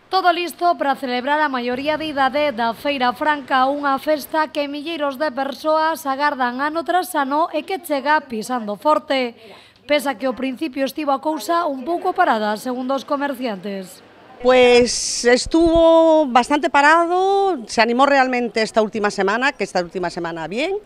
Todo listo para celebrar a maioría de idade da Feira Franca, unha festa que milleiros de persoas agardan ano tras ano e que chega pisando forte. Pese a que ao principio estivo a cousa un pouco parada, segundo os comerciantes. Pues estuvo bastante parado, se animó realmente esta última semana, bien,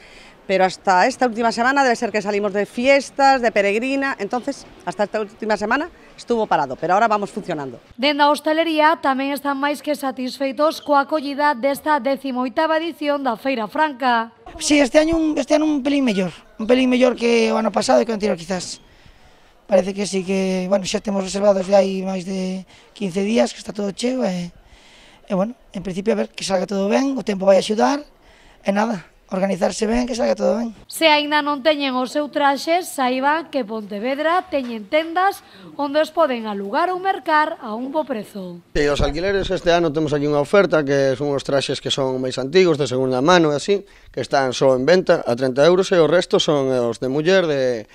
pero hasta esta última semana debe ser que salimos de fiestas, de peregrina, entonces hasta esta última semana estuvo parado, pero ahora vamos funcionando. Dende a hostelería tamén están máis que satisfeitos coa acollida desta 18ª edición da Feira Franca. Sí, este ano un pelín mellor que o ano pasado e que o anterior quizás. Parece que sí que, bueno, xa temos reservados de hai máis de 15 días, que está todo cheo e bueno, en principio a ver que salga todo ben, o tempo vai axudar e nada, organizarse ben, que salga todo ben. Se aínda non teñen o seu traxe, saiban que Pontevedra teñen tendas onde os poden alugar ou mercar a un bo prezo. E os alquileres este ano temos aquí unha oferta que son os traxes que son máis antigos, de segunda mano e así, que están só en venta a 30 euros e o resto son os de muller, de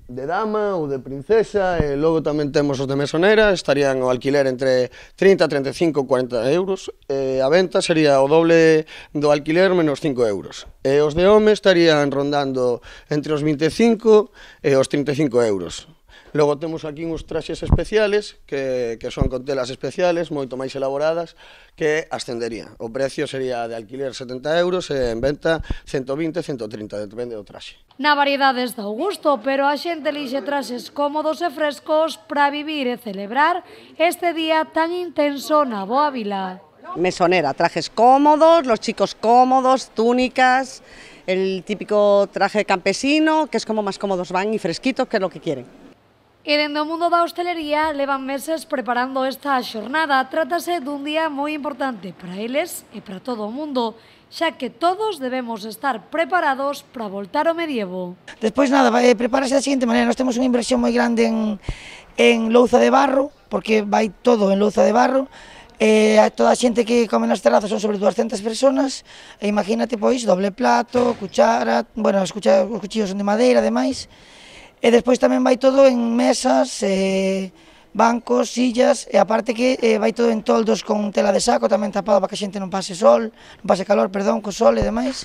dama ou de princesa, e logo tamén temos os de mesonera, estarían o alquiler entre 30, 35, 40 euros, e a venta sería o doble do alquiler menos 5 euros. E os de home estarían rondando entre os 25 e os 35 euros. Logo temos aquí uns traxes especiales, que son con telas especiales, moito máis elaboradas, que ascendería. O precio sería de alquiler 70 euros e en venta 120, 130, depende do traxe. Na variedade está o gusto, pero a xente elixe traxes cómodos e frescos para vivir e celebrar este día tan intenso na boa vila. Mesonera, trajes cómodos, los chicos cómodos, túnicas, el típico traje campesino, que es como más cómodos van y fresquitos, que es lo que quieren. E dende o mundo da hostelería levan meses preparando esta xornada. Trátase dun día moi importante para eles e para todo o mundo, xa que todos debemos estar preparados para voltar ao medievo. Despois nada, prepárase da seguinte maneira, nós temos unha inversión moi grande en louza de barro, porque vai todo en louza de barro, toda a xente que come nas terrazas son sobre 200 personas, e imagínate pois doble plato, cuchara, bueno, os cuchillos son de madeira, ademais. E despois tamén vai todo en mesas, bancos, sillas, e aparte que vai todo en toldos con tela de saco, tamén tapado para que a xente non pase calor, co sol e demais.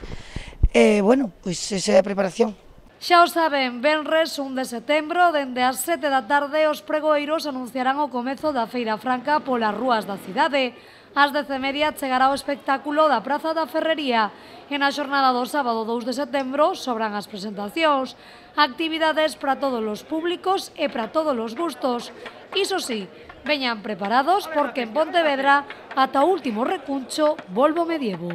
E, bueno, pois esa é a preparación. Xa o saben, venres 1 de setembro, dende as 7 da tarde, os pregoeiros anunciarán o comezo da Feira Franca polas rúas da cidade. Ás 10:30 chegará o espectáculo da Praza da Ferrería e na xornada do sábado 2 de setembro sobran as presentacións, actividades para todos os públicos e para todos os gustos. Iso sí, veñan preparados porque en Pontevedra ata o último recuncho volve o medievo.